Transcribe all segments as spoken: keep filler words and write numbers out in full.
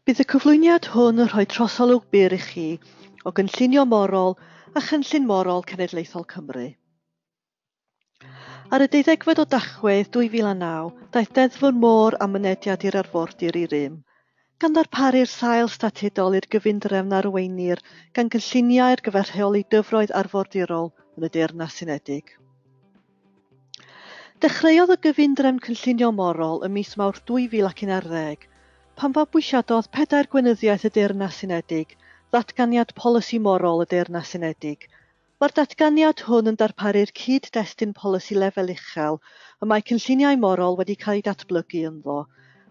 Bydd y cyflwyniad hwn yn rhoi trosolwg byr i chi o gynllunio morol a Chynllun Morol Cenedlaethol Cymru. Ar y deuddegfed o Dachwedd dwy fil a naw, daeth Deddf y Môr a Mynediad i'r Arfordir i rym, gan ddarparu'r sail statudol i'r gyfundrefn arweinir gan gynlluniau ar gyfer rheoli dyfroedd arfordirol yn y Deyrnas Unedig. Dechreuodd y gyfundrefn cynllunio morol ym mis Mawrth dwy fil ac un ar ddeg, pan fabwysiadodd pedair gweinyddiaeth y Deyrnas Unedig ddatganiad polisi morol y Deyrnas Unedig. Mae'r datganiad hwn yn darparu'r cyd-destun polisi lefel uchel y mae cynlluniau morol wedi cael eu datblygu ynddo,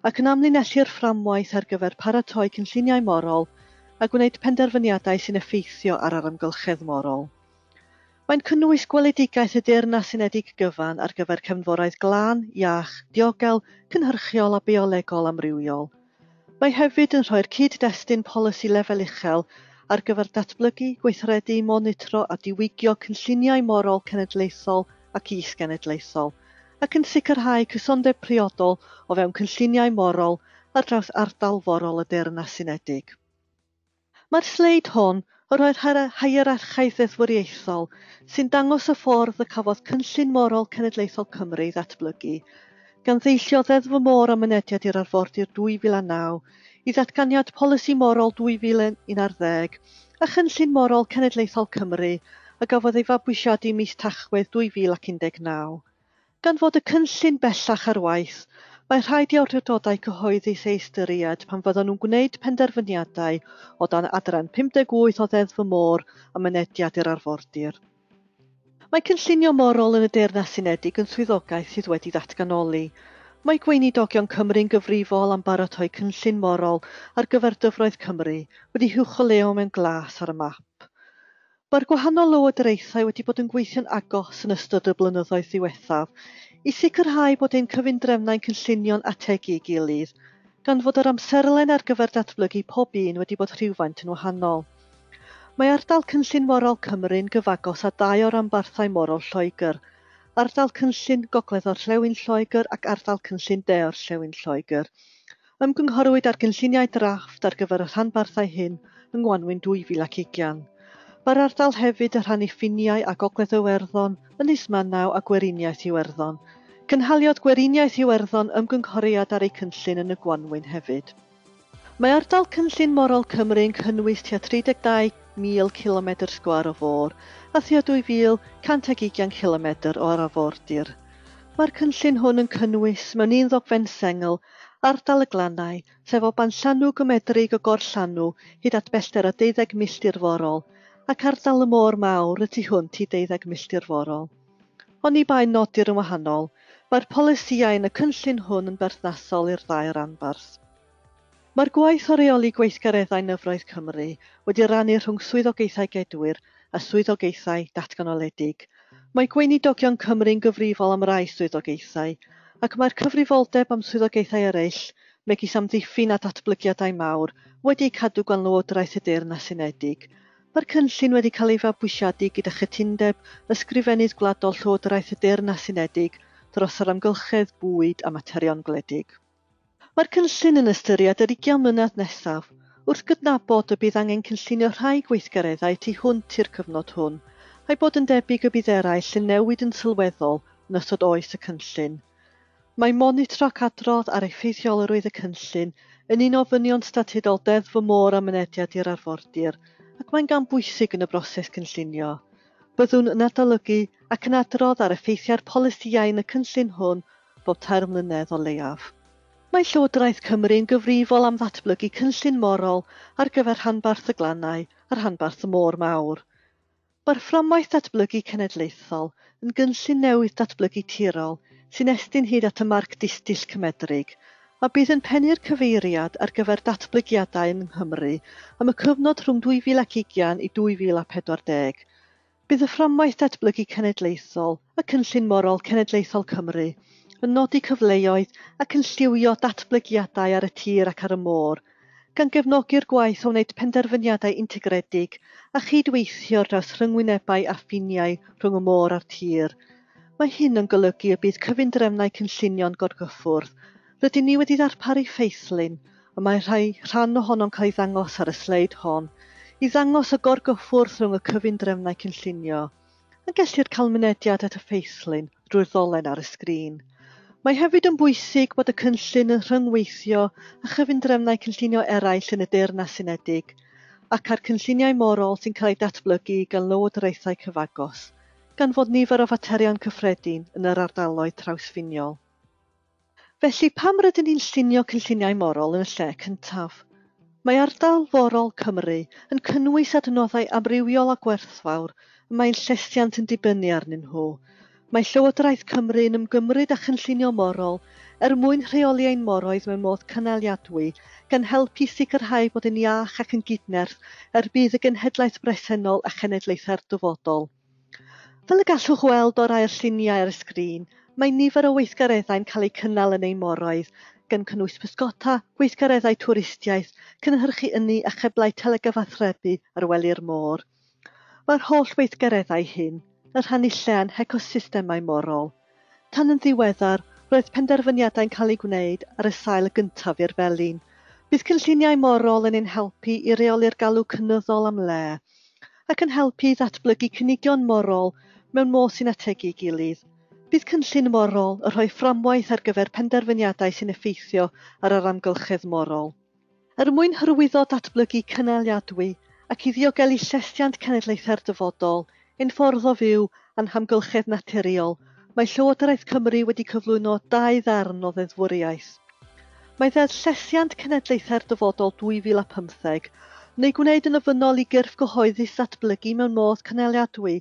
ac yn amlinellu'r fframwaith ar gyfer paratoi cynlluniau morol a gwneud penderfyniadau sy'n effeithio ar yr amgylchedd morol. Mae'n cynnwys gweledigaeth y Deyrnas Unedig gyfan ar gyfer cefnforoedd glân, iach, diogel, cynhyrchiol a biolegol amrywiol. Mae hefyd yn rhoi'r cyd-destun polisi lefel uchel ar gyfer datblygu, gweithredu, monitro a diwygio cynlluniau morol cenedlaethol ac is-genedlaethol, ac yn sicrhau cysondeb priodol o fewn cynlluniau morol ar draws ardal forol y Deyrnas Unedig. Mae'r sleid hon yn rhoi'r hierarchaeth ddeddfwriaethol sy'n dangos y ffordd y cafodd Cynllun Morol Cenedlaethol Cymru ei ddatblygu, gan ddeillio Ddeddf y Môr a Mynediad i'r Arfordir dwy fil a naw, i ddatganiad Polisi Morol dwy fil un ar ddeg a Chynllun Morol Cenedlaethol Cymru a gafodd ei fabwysiadu mis Tachwedd dwy fil ac un deg naw. Gan fod y cynllun bellach ar waith, mae rhaid i awdurdodau cyhoeddus ei ystyried pan fyddan nhw'n gwneud penderfyniadau o dan adran pum deg wyth o Ddeddf y Môr a Mynediad i'r Arfordir. Mae cynllunio morol yn y Deyrnas Unedig yn swyddogaeth sydd wedi ddatganoli. Mae Gweinidogion Cymru'n gyfrifol am baratoi cynllun morol ar gyfer dyfroedd Cymru wedi huwcholeuo mewn glas ar y map. Mae'r gwahanol lywodraethau wedi bod yn gweithio'n agos yn ystod y blynyddoedd ddiwethaf i sicrhau bod ein cyfundrefnau'n cynllunio'n ategu ei gilydd, gan fod yr amserlen ar gyfer datblygu pob un wedi bod rhywfaint yn wahanol. Mae ardal Cynllun Morol Cymru'n gyfagos â dau o ranbarthau morol Lloegr, ardal Cynllun Gogledd Orllewin Lloegr ac ardal Cynllun De Orllewin Lloegr. Ymgynghorwyd ar gynlluniau drafft ar gyfer y rhanbarthau hyn yng Ngwanwyn dwy fil ac ugain. Mae'r ardal hefyd yn rhannu ffiniau â Gogledd Iwerddon, Ynys Manaw a Gweriniaeth Iwerddon. Cynhaliodd Gweriniaeth Iwerddon ymgynghoriad ar eu cynllun yn y Gwanwyn hefyd. Mae ardal Cynllun Morol Cymru yn cynnwys tua tri deg dau mil cilomedr sgwâr o fôr a thua dwy fil cant ag ugain cilomedr o arfordir. Mae'r cynllun hwn yn cynnwys, mewn un ddogfen sengl, ardal y glannau, sef o banllanw gymedrig o gorllanw hyd at bellter o deuddeg milltir forol, ac ardal y môr mawr y tu hwnt i deuddeg milltir forol. Oni bai nodir yn wahanol, mae'r polisïau yn y cynllun hwn yn berthnasol i'r ddau ranbarth. Mae'r gwaith o reoli gweithgareddau nyfroedd Cymru wedi rannu rhwng swyddogaethau gedwir a swyddogaethau datganoledig. Mae Gweinidogion Cymru'n gyfrifol am rai swyddogaethau, ac mae'r cyfrifoldeb am swyddogaethau eraill, megis amddiffyn a datblygiadau mawr, wedi'u cadw gan Lywodraeth y Deyrnas Unedig. Mae'r cynllun wedi cael ei fabwysiadu gyda chytundeb Ysgrifennydd Gwladol Llywodraeth y Deyrnas Unedig dros yr amgylchedd, bwyd a materion gwledig. Mae'r cynllun yn ystyried yr ugain mlynedd nesaf, wrth gydnabod y bydd angen cynllunio rhai gweithgareddau tu hwnt i'r cyfnod hwn, a'i bod yn debyg y bydd eraill yn newid yn sylweddol yn ystod oes y cynllun. Mae monitro ac adrodd ar effeithiolrwydd y cynllun yn un o ofynion statudol Deddf y Môr a Mynediad i'r Arfordir, ac mae'n gam bwysig yn y broses cynllunio. Byddwn yn adolygu ac yn adrodd ar effeithiau'r polisïau yn y cynllun hwn bob tair mlynedd o leiaf. Mae Llywodraeth Cymru yn gyfrifol am ddatblygu cynllun morol ar gyfer rhanbarth y glannau a rhanbarth y môr mawr. Mae'r fframwaith datblygu cenedlaethol yn gynllun newydd datblygu tirol sy'n estyn hyd at y marc distyll cymedrig, a bydd yn pennu'r cyfeiriad ar gyfer datblygiadau yng Nghymru am y cyfnod rhwng dwy fil ac ugain i dwy fil a pedwar deg. Bydd y fframwaith datblygu cenedlaethol a Cynllun Morol Cenedlaethol Cymru yn nodi cyfleoedd ac yn lliwio datblygiadau ar y tir ac ar y môr, gan gefnogi'r gwaith o wneud penderfyniadau integredig a chydweithio dros rhyngwynebau a ffiniau rhwng y môr a'r tir. Mae hyn yn golygu y bydd cyfundrefnau cynllunio'n gorgyffwrdd. Rydyn ni wedi ddarparu ffeithlun y mae rhai rhan ohono'n cael ei ddangos ar y sleid hon, i ddangos y gorgyffwrdd rhwng y cyfundrefnau cynllunio, a gellir cael mynediad at y ffeithlun drwy'r ddolen ar y sgrin. Mae hefyd yn bwysig bod y cynllun yn rhyngweithio â chyfundrefnau cynllunio eraill yn y Deyrnas Unedig ac â'r cynlluniau morol sy'n cael eu datblygu gan lywodraethau cyfagos, gan fod nifer o faterion cyffredin yn yr ardaloedd trawsffiniol. Felly, pam rydyn ni'n llunio cynlluniau morol yn y lle cyntaf? Mae ardal forol Cymru yn cynnwys adnoddau amrywiol a gwerthfawr y mae'n llesiant yn dibynnu arnyn nhw. Mae Llywodraeth Cymru yn ymgymryd â chynllunio morol er mwyn rheoli ein moroedd mewn modd cynaliadwy, gan helpu sicrhau bod yn iach ac yn gydnerth er budd y genhedlaeth bresennol a chenedlaethau'r dyfodol. Fel y gallwch weld o rai o'r lluniau ar y sgrin, mae nifer o weithgareddau'n cael eu cynnal yn ein moroedd, gan cynnwys pysgota, gweithgareddau twristiaeth, cynhyrchu ynni a cheblau telegyfathrebu ar wely'r môr. Mae'r holl weithgareddau hyn yn rhannu lle â'n hecosystemau morol. Tan yn ddiweddar, roedd penderfyniadau'n cael eu gwneud ar y sail gyntaf i'r felin. Bydd cynlluniau morol yn ein helpu i reoli'r galw cynyddol am le, ac yn helpu i ddatblygu cynigion morol mewn modd sy'n ategu ei gilydd. Bydd cynllun morol yn rhoi fframwaith ar gyfer penderfyniadau sy'n effeithio ar yr amgylchedd morol. Er mwyn hyrwyddo datblygu cynaliadwy ac i ddiogelu llesiant cenedlaethau'r dyfodol, ein ffordd o fyw a'n hamgylchedd naturiol, mae Llywodraeth Cymru wedi cyflwyno dau ddarn o ddeddfwriaeth. Mae Ddeddf Llesiant Cenedlaethau'r Dyfodol dwy fil a pymtheg yn ei gwneud yn ofynnol i gyrff gyhoeddus ddatblygu mewn modd cynaliadwy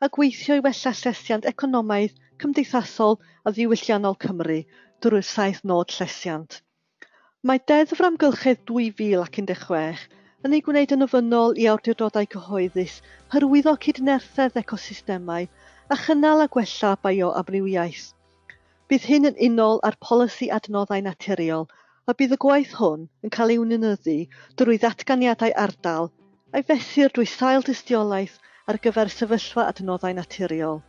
a gweithio i wella llesiant economaidd, cymdeithasol a ddiwylliannol Cymru drwy'r saith nod llesiant. Mae Deddf yr Amgylchedd dwy fil ac un deg chwech yn ei gwneud yn ofynnol i awdurdodau cyhoeddus hyrwyddo cydnerthedd ecosystemau a chynnal a gwella bioamrywiaeth. Bydd hyn yn unol â'r polisi adnoddau naturiol a bydd y gwaith hwn yn cael ei weinyddu drwy ddatganiadau ardal a'i fesur drwy sail dystiolaeth ar gyfer sefyllfa adnoddau naturiol.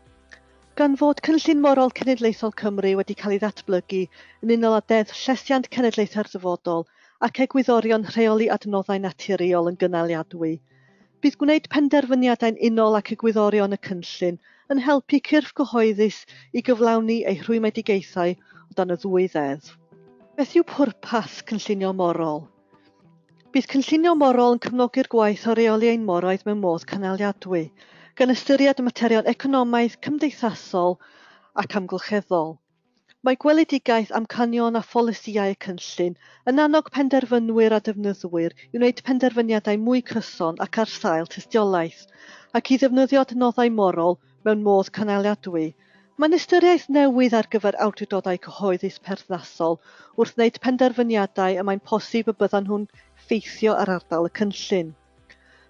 Gan fod Cynllun Morol Cenedlaethol Cymru wedi cael ei ddatblygu yn unol â Deddf Llesiant Cenedlaethau'r Dyfodol ac egwyddorion rheoli adnoddau naturiol yn gynaliadwy, bydd gwneud penderfyniadau'n unol ac egwyddorion y cynllun yn helpu cyrff gyhoeddus i gyflawni eu rhwymedigaethau o dan y ddwy ddeddf. Beth yw pwrpas cynllunio morol? Bydd cynllunio morol yn cefnogi'r gwaith o reoli ein moroedd mewn modd cynaliadwy, gan ystyried y materion economaidd, cymdeithasol ac amgylcheddol. Mae gweledigaeth, amcanion a pholisïau y cynllun yn annog penderfynwyr a defnyddwyr i wneud penderfyniadau mwy cyson ac ar sail tystiolaeth, ac i ddefnyddio adnoddau morol mewn modd cynaliadwy. Mae'n ystyriaeth newydd ar gyfer awdurdodau cyhoeddus perthnasol wrth wneud penderfyniadau y mae'n posib y byddan nhw'n ffeithio ar ardal y cynllun.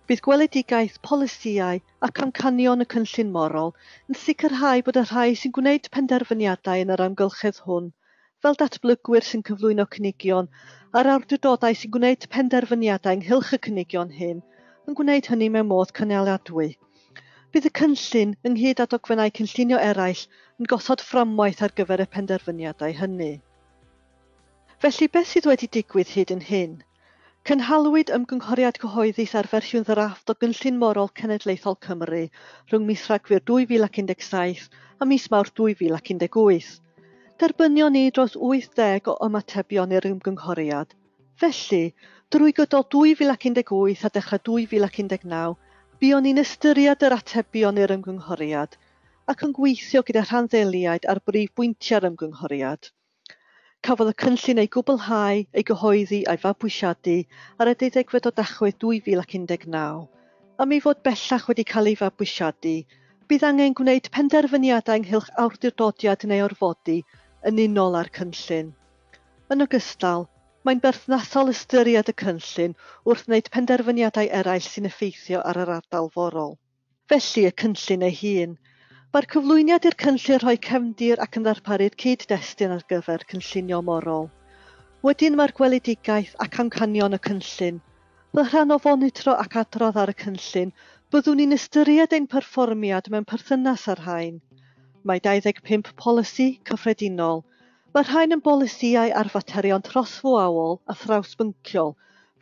Bydd gweledigaeth, polisïau ac amcanion y cynllun morol yn sicrhau bod y rhai sy'n gwneud penderfyniadau yn yr amgylchedd hwn, fel datblygwyr sy'n cyflwyno cynigion a'r awdurdodau sy'n gwneud penderfyniadau ynghylch y cynigion hyn, yn gwneud hynny mewn modd cynaliadwy. Bydd y cynllun, ynghyd â dogfennau cynllunio eraill, yn gosod fframwaith ar gyfer y penderfyniadau hynny. Felly, beth sydd wedi digwydd hyd yn hyn? Cynhalwyd ymgynghoriad cyhoeddus ar fersiwn ddrafft o Gynllun Morol Cenedlaethol Cymru rhwng mis Rhagfyr dwy fil ac un deg saith a mis Mawrth dwy fil ac un deg wyth. Derbynion ni dros wyth deg o ymatebion i'r ymgynghoriad. Felly, drwy gydol dwy fil ac un deg wyth a dechrau dwy fil ac un deg naw, buon ni'n ystyried yr atebion i'r ymgynghoriad ac yn gweithio gyda rhanddeiliaid ar brif bwyntiau'r ymgynghoriad. Cafodd y cynllun ei gwblhau, ei gyhoeddi a'i fabwysiadu ar y deuddegfed o Dachwedd dwy fil ac un deg naw. Am ei fod bellach wedi cael ei fabwysiadu, bydd angen gwneud penderfyniadau ynghylch awdurdodiad neu orfodi yn unol â'r cynllun. Yn ogystal, mae'n berthnasol ystyried y cynllun wrth wneud penderfyniadau eraill sy'n effeithio ar yr ardal forol. Felly, y cynllun ei hun. Mae'r cyflwyniad i'r cynllun rhoi cefndir ac yn ddarparu'r cyd-destun ar gyfer cynllunio morol. Wedyn mae'r gweledigaeth ac amcanion y cynllun. Fel rhan o fonitro ac adrodd ar y cynllun, byddwn ni'n ystyried ein perfformiad mewn perthynas â'r rhain. Mae dau ddeg pump polisi cyffredinol. Mae'r rhain yn bolisïau ar faterion trosfwaol a thrawsbynciol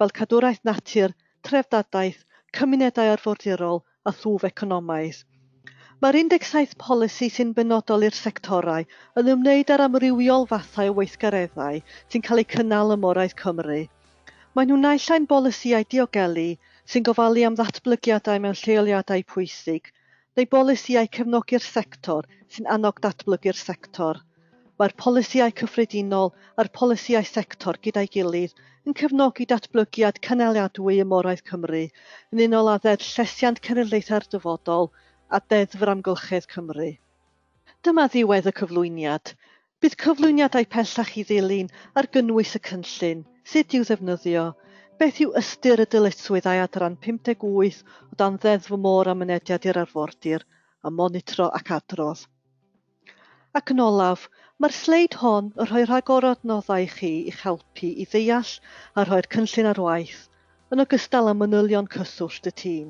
fel cadwraeth natur, treftadaeth, cymunedau arfordirol a thwf economaidd. Mae'r un deg saith polisi sy'n benodol i'r sectorau yn ymwneud â'r amrywiol fathau o weithgareddau sy'n cael eu cynnal ym Moroedd Cymru. Maen nhw naill ai'n bolisïau diogelu sy'n gofalu am ddatblygiadau mewn lleoliadau pwysig, neu bolisïau cefnogi'r sector sy'n annog datblygu'r sector. Mae'r polisïau cyffredinol a'r polisïau sector gyda'i gilydd yn cefnogi datblygiad cynaliadwy ym Moroedd Cymru yn unol â Ddeddf Llesiant Cenedlaethau'r Dyfodol a Deddf yr Amgylchedd Cymru. Dyma ddiwedd y cyflwyniad. Bydd cyflwyniadau pellach i ddilyn ar gynnwys y cynllun, sut i'w ddefnyddio, beth yw ystyr y dyletswyddau adran pum deg wyth o dan Ddeddf y Môr a Mynediad i'r Arfordir, a monitro ac adrodd. Ac yn olaf, mae'r sleid hon yn rhoi rhagor o adnoddau i chi i'ch helpu i ddeall a rhoi'r cynllun ar waith, yn ogystal â manylion cyswllt y tîm.